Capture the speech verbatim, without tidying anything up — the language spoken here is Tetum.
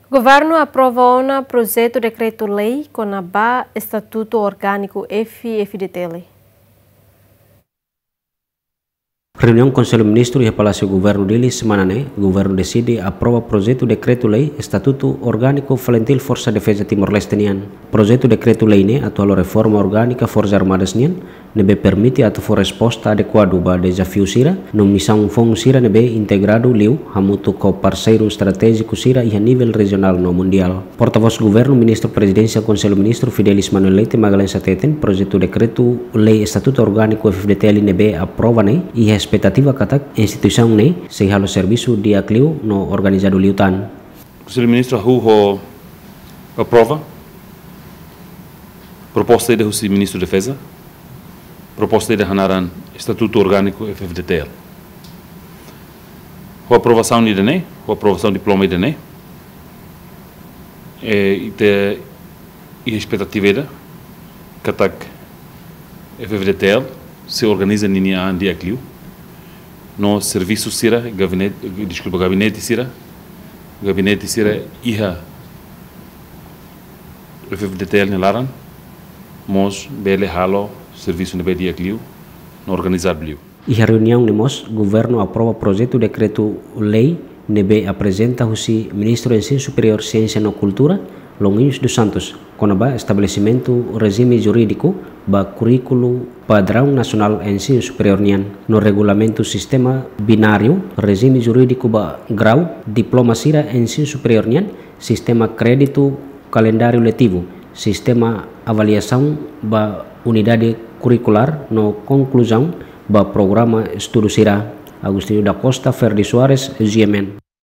Governu aprova ona projetu dekretu-lei kona-ba Estatutu Orgániku F-FDTL. Reuniaun Konsellu Ministru iha Palásiu Governu Dili semana ne'e, governu deside aprova projetu dekretu-lei Estatutu Orgániku FALINTIL Forsa Defeza Timor-Leste nian. Projetu dekretu-lei ne'e atu halo reforma orgánika Forsas Armadas nian, ne'ebé permite atu fó resposta adekuadu ba dezafiu sira no misaun foun sira ne'ebé integradu liu hamutuk ho parseiru estratéjiku sira iha nivel rejionál no mundiál. Portavós Governu, Ministru Prezidénsia Konsellu Ministru Fidelis Manuel Leite Magalhães hateten, projetu dekretu-lei Estatutu Orgániku F-FDTL ne'ebé aprova ne'e iha espetativa katak instituisaun ne'e sei halo servisu di'ak liu no organizadu liután. Konsellu Ministru hahú ho aprova proposta ida husi Ministru Defeza, proposta ida hanaran Estatutu Orgániku F-FDTL. Ho aprovasaun ida-ne'e, ho aprovasaun diploma ida-ne'e, eh, ita iha espetativa ida katak F-FDTL sei organiza ninia an di'ak liu, no servisu sira, gabinete, deskulpa, gabinete sira, gabinete sira iha F-FDTL nia laran mós bele halo servisu ne'ebé di'ak liu no organizadu liu. Iha reuniaun ne'e mós, governu aprova projetu dekretu-lei ne'ebé aprezenta husi Ministru Ensinu Superiór, Siénsia no Kultura, Longuinhos dos Santos, kona-ba estabelesimentu rejime jurídiku ba kurríkulu padraun nasionál ensinu superiór nian, no regulamentu sistema bináriu rejime jurídiku ba grau diploma sira ensinu superiór nian, sistema kréditu kalendáriu letivu, sistema avaliasaun ba unidade kurrikulár no konkluzaun ba programa estudu sira. Agostinho da Costa, Ferdi Soares, G M N.